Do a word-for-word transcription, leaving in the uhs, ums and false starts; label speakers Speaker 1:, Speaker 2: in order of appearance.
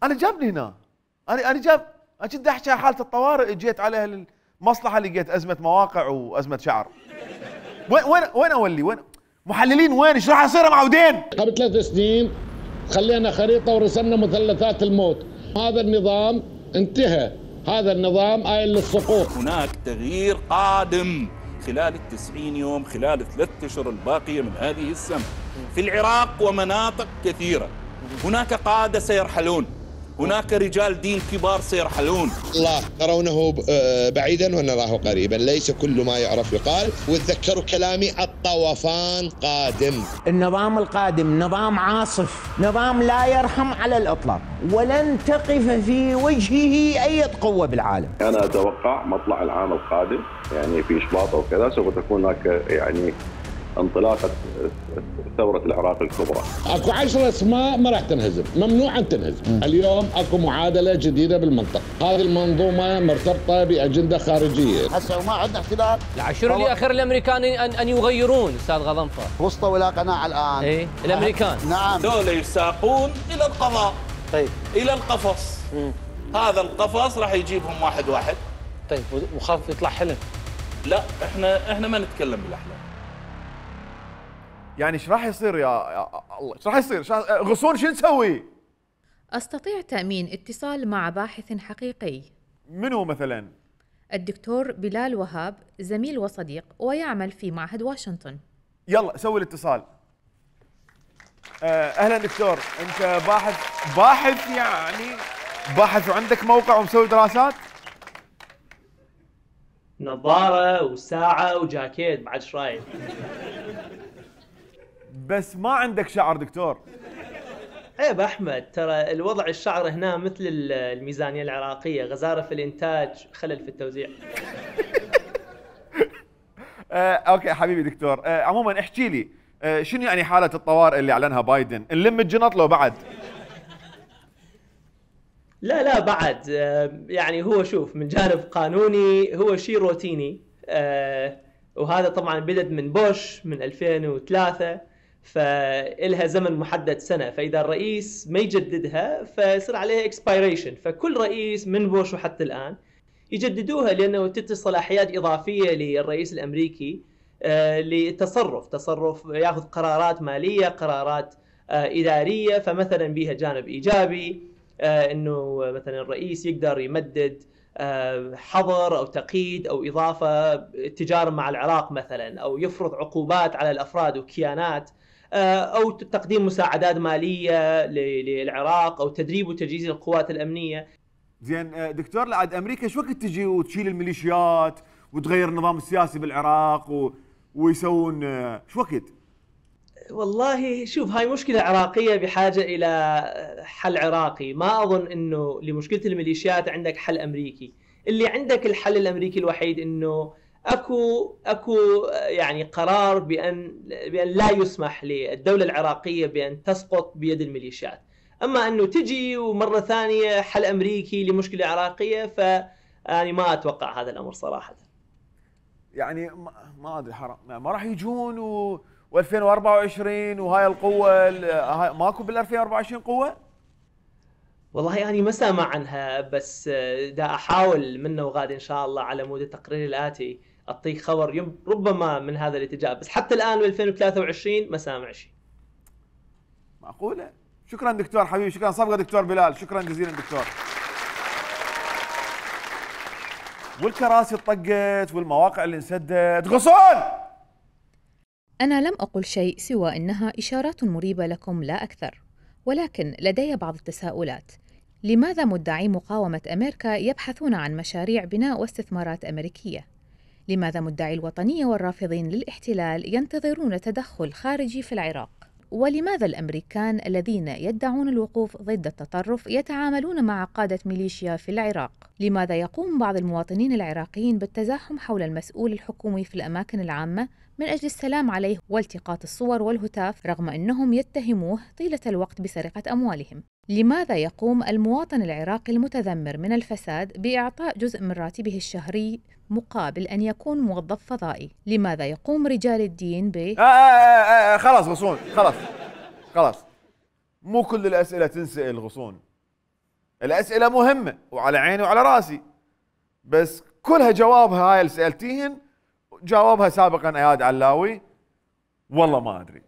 Speaker 1: انا جابني هنا، انا انا جاب انا كنت احكي عن حاله الطوارئ، جيت على المصلحه لقيت ازمه مواقع وازمه شعر. وين وين وين اولي؟ وين محللين؟ وين ايش راح يصير معودين؟
Speaker 2: قبل ثلاث سنين خلينا خريطه ورسمنا مثلثات الموت، هذا النظام انتهى، هذا النظام آيل للسقوط.
Speaker 3: هناك تغيير قادم خلال التسعين يوم، خلال الثلاث اشهر الباقيه من هذه السنه في العراق ومناطق كثيره. هناك قاده سيرحلون، هناك رجال دين كبار سيرحلون.
Speaker 4: الله ترونه بعيدا ونراه قريبا، ليس كل ما يعرف يقال. وتذكروا كلامي، الطوفان قادم.
Speaker 5: النظام القادم نظام عاصف، نظام لا يرحم على الإطلاق، ولن تقف في وجهه أي قوة بالعالم.
Speaker 6: أنا أتوقع مطلع العام القادم يعني في شباط وكذا سوف تكون هناك يعني انطلاقة ثورة العراق الكبرى.
Speaker 2: اكو عشر اسماء ما راح تنهزم، ممنوع ان تنهزم. م. اليوم اكو معادلة جديدة بالمنطقة، هذه المنظومة مرتبطة بأجندة خارجية.
Speaker 7: هسه وما عندنا احتلال.
Speaker 8: العشر اللي اخر الامريكان ان ان يغيرون استاذ غضنفر.
Speaker 7: وصلوا الى قناعة الان.
Speaker 8: اي الامريكان.
Speaker 7: نعم.
Speaker 3: دول يساقون الى القضاء.
Speaker 7: طيب.
Speaker 3: الى القفص. م. هذا القفص راح يجيبهم واحد واحد.
Speaker 9: طيب وخاف يطلع حلم.
Speaker 3: لا احنا احنا ما نتكلم بالاحلام.
Speaker 1: يعني ايش راح يصير يا الله؟ ايش راح يصير؟ غصون شو نسوي؟
Speaker 10: استطيع تأمين اتصال مع باحث حقيقي.
Speaker 1: منو مثلا؟
Speaker 10: الدكتور بلال وهاب، زميل وصديق ويعمل في معهد واشنطن.
Speaker 1: يلا سوي الاتصال. اهلا دكتور، انت باحث باحث يعني باحث وعندك موقع ومسوي دراسات؟
Speaker 9: نظارة وساعة وجاكيت بعد ايش رايك؟
Speaker 1: بس ما عندك شعر دكتور.
Speaker 9: عيب احمد، ترى الوضع الشعر هنا مثل الميزانية العراقية، غزارة في الانتاج، خلل في التوزيع.
Speaker 1: آه، اوكي حبيبي دكتور، آه، عموما احكي لي آه، شنو يعني حالة الطوارئ اللي اعلنها بايدن؟ نلم الجنط لو بعد؟
Speaker 9: لا لا بعد، يعني هو شوف من جانب قانوني هو شيء روتيني، وهذا طبعا بدأ من بوش من ألفين وثلاثة، فإلها زمن محدد سنة، فإذا الرئيس ما يجددها فيصير عليها اكسبيريشن، فكل رئيس من بوش وحتى الآن يجددوها لأنه تدي صلاحيات إضافية للرئيس الأمريكي لتصرف تصرف ياخذ قرارات مالية، قرارات إدارية، فمثلا بها جانب إيجابي انه مثلا الرئيس يقدر يمدد حظر او تقييد او اضافه تجاره مع العراق مثلا، او يفرض عقوبات على الافراد وكيانات، او تقديم مساعدات ماليه للعراق، او تدريب وتجهيز القوات الامنيه.
Speaker 1: زين دكتور، لعد امريكا شو وقت تجي وتشيل الميليشيات وتغير النظام السياسي بالعراق و... ويسوون شو وقت؟
Speaker 9: والله شوف، هاي مشكلة عراقية بحاجة إلى حل عراقي، ما أظن إنه لمشكلة الميليشيات عندك حل أمريكي. اللي عندك الحل الأمريكي الوحيد إنه أكو أكو يعني قرار بأن بأن لا يسمح للدولة العراقية بأن تسقط بيد الميليشيات. أما أنه تجي ومرة ثانية حل أمريكي لمشكلة عراقية، فأنا ما أتوقع هذا الأمر صراحة.
Speaker 1: يعني ما أدري، حرام ما راح يجون و و2024 وهاي القوة هاي ماكو بال ألفين وأربعة وعشرين قوة؟
Speaker 9: والله يعني ما سامع عنها، بس دا احاول منه وغاد ان شاء الله على مود التقرير الاتي اعطيك خبر ربما من هذا الاتجاه، بس حتى الان ب ألفين وثلاثة وعشرين ما سامع شيء.
Speaker 1: معقولة؟ شكرا دكتور حبيبي، شكرا صفقة دكتور بلال، شكرا جزيلا دكتور. والكراسي طقت والمواقع اللي انسدت، غصون!
Speaker 10: أنا لم أقل شيء سوى أنها إشارات مريبة لكم لا أكثر، ولكن لدي بعض التساؤلات. لماذا مدعي مقاومة أمريكا يبحثون عن مشاريع بناء واستثمارات أمريكية؟ لماذا مدعي الوطنية والرافضين للاحتلال ينتظرون تدخل خارجي في العراق؟ ولماذا الأمريكان الذين يدعون الوقوف ضد التطرف يتعاملون مع قادة ميليشيا في العراق؟ لماذا يقوم بعض المواطنين العراقيين بالتزاحم حول المسؤول الحكومي في الأماكن العامة من أجل السلام عليه والتقاط الصور والهتاف رغم أنهم يتهموه طيلة الوقت بسرقة أموالهم؟ لماذا يقوم المواطن العراقي المتذمر من الفساد بإعطاء جزء من راتبه الشهري مقابل أن يكون موظف فضائي؟ لماذا يقوم رجال الدين ب
Speaker 1: آه آه آه خلاص غصون، خلاص خلاص، مو كل الأسئلة تنسأل غصون. الاسئله مهمه وعلى عيني وعلى راسي، بس كلها جوابها هاي اللي سالتيهن جاوبها سابقا اياد علاوي، والله ما ادري.